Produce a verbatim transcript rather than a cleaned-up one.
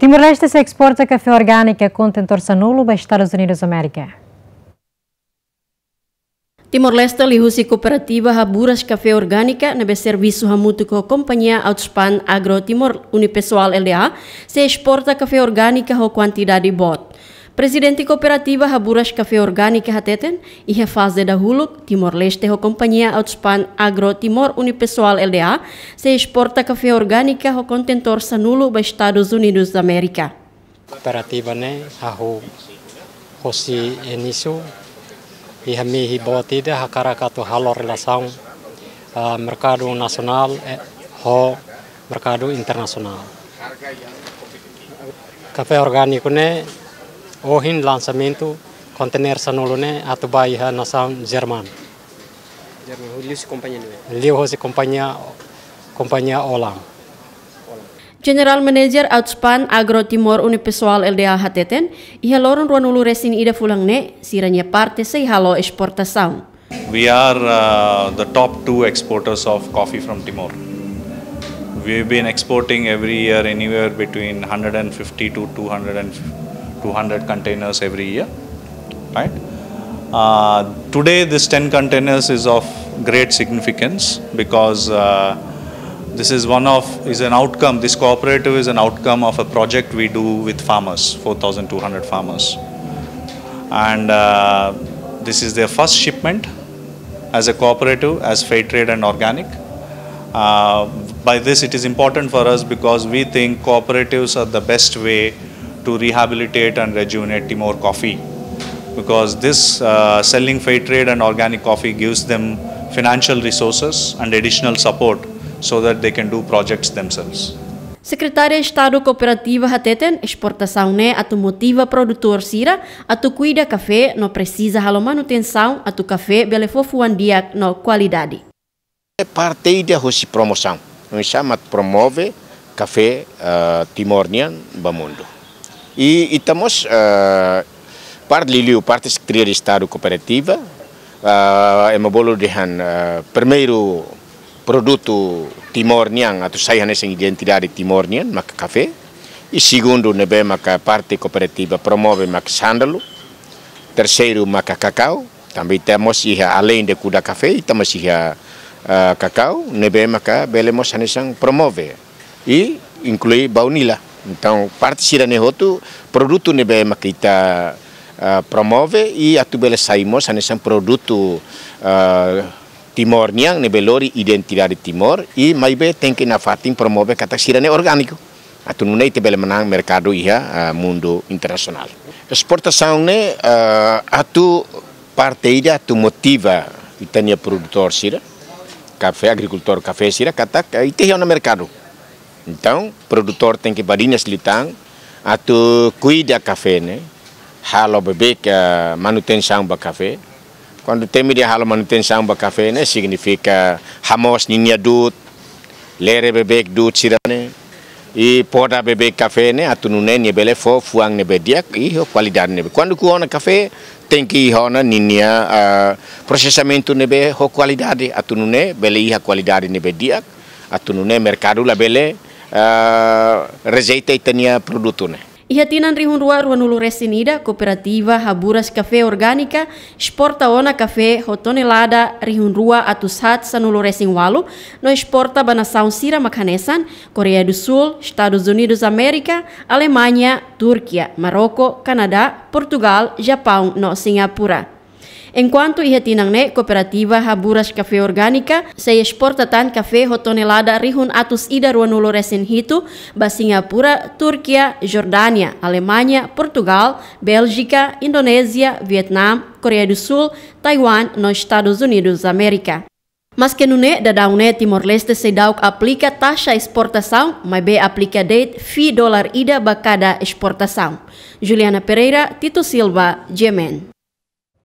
Timor-Leste sei esporta kafé orgánika kontentór sanulu ba Estadus Unidus Amérika. Timor-Leste liuhusi kooperativa Haburas Kafé Orgánika ne'ebé servisu hamutuk ho kompañia Outspan Agro Timor Unipessoal Lda sei esporta kafé orgánika ho kuantidade boot. Prezidente kooperativa Haburas Kafé Orgánika hateten, iha faze dahuluk, Timor-Leste ho kompañia Outspan Agro Timor Unipessoal Lda sei esporta kafé orgánika ho kontentór sanulu ba Estadus Unidus Amérika. Kooperativa ne'e hahú hosi inísiu, iha mehi boot ida hakarak atu halo relasaun, ah, merkadu nasionál, eh, ho merkadu internasionál. Kafé orgániku ne'e ohin lansamentu kontener sanulu ne'e atu ba iha nasaun Jerman. Jerman, liuhusi kompañia ne'ebé? Liuhusi kompañia, kompañia Olam. General Manager Outspan Agro Timor Unipessoal Lda hateten, iha loron ruanulu resin ida fulan ne'e, sira-nia parte sei halo esportasaun. We are, uh, the top two exporters of coffee from Timor. We've been exporting every year anywhere between hundred and fifty to two hundred and, two hundred containers every year, right? Uh, today, this ten containers is of great significance because, uh, this is one of, is an outcome, this cooperative is an outcome of a project we do with farmers, four thousand two hundred farmers. And, uh, this is their first shipment as a cooperative, as fair trade and organic. Uh, by this, it is important for us because we think cooperatives are the best way to rehabilitate and rejuvenate Timor coffee. Because this, uh, selling fair trade and organic coffee gives them financial resources and additional support so that they can do projects themselves. Sekretária Estadu Kooperativa hateten, esportasaun ne'e atu motiva produtór sira atu kuida kafé no presiza halo manutensaun atu kafé bele fó fuan di'ak no kualidade. Parte ida hosi promosaun. Oinsá mak promove kafé, eh, Timor nian ba mundu. I, i ita mós, eh, parte liuliu, parte Sekretária Estadu Kooperativa, eh, ema bolu dehan, eh, primeiru produtu Timor nian, atu sai hanesan identidade Timor nian, maka kafé. I segundu ne'ebé maka parte kooperativa promove maka sándalu. Terseiru maka kakau. Tanba ita mós iha, além de kuda kafé, ita mós iha, ah, kakau, ne'ebé maka bele mós hanesan promove. I inklui baunila. Entaun, parte sira-ne'e hotu, produtu ne'ebé maka ita, ah, promove, i atu bele sai mós hanesan produtu, ah, Timor nian, ne'ebé lori identidade Timor, i maibé tenke nafatin promove katak sira-ne'e orgániku. Atu nune'e ita bele manán merkadu iha, ah, mundu internasionál. Esportasaun ne'e, ah, atu parte ida atu motiva ita-nia produtór sira, kafé, agrikultór kafé sira, katak, eh, ita iha ona merkadu. Entaun, produtór tenke badinas liután atu kuida kafé ne'e, halo beibeik, eh, manutensaun ba kafé. Kuandu temi dehan halo manutensaun ba kafé ne'e signifika hamoos ninia du'ut, lere beibeik du'ut sira-ne'e, i poda beibeik kafé ne'e atu nune'e nia bele fó fuan ne'ebé di'ak i ho kualidade ne'ebé. Kuandu ku'u ona kafé, tenke iha ona ninia, ah, prosesamentu ne'ebé ho kualidade, atu nune'e bele iha kualidade ne'ebé di'ak, atu nune'e merkadu labele, ah, rejeita ita-nia produtu ne'e. Iha tinan rihun rua ruanulu resin ida, kooperativa Haburas Kafé Orgánika esporta ona kafé ho tonelada rihun rua atus haat sanulu resin ualu, no esporta ba nasaun sira mak hanesan Koreia do Sul, Estadus Unidus Amérika, Alemaña, Turkia, Marroko, Kanadá, Portugál, Japaun no Singapura. Enkuantu iha tinan ne'e, kooperativa Haburas Kafé Orgánika sei esporta tan kafé ho tonelada rihun atus ida ruanulu resin hitu ba Singapura, Turkia, Jordánia, Alemaña, Portugál, Béljika, Indonézia, Vietname, Koreia do Sul, Taiwan no Estadus Unidus Amérika. Maske nune'e, daudaun ne'e Timor-Leste seidauk aplika taxa esportasaun, maibé aplika de'it fee dolar ida ba kada esportasaun. Juliana Pereira, Tito Silva, G M N.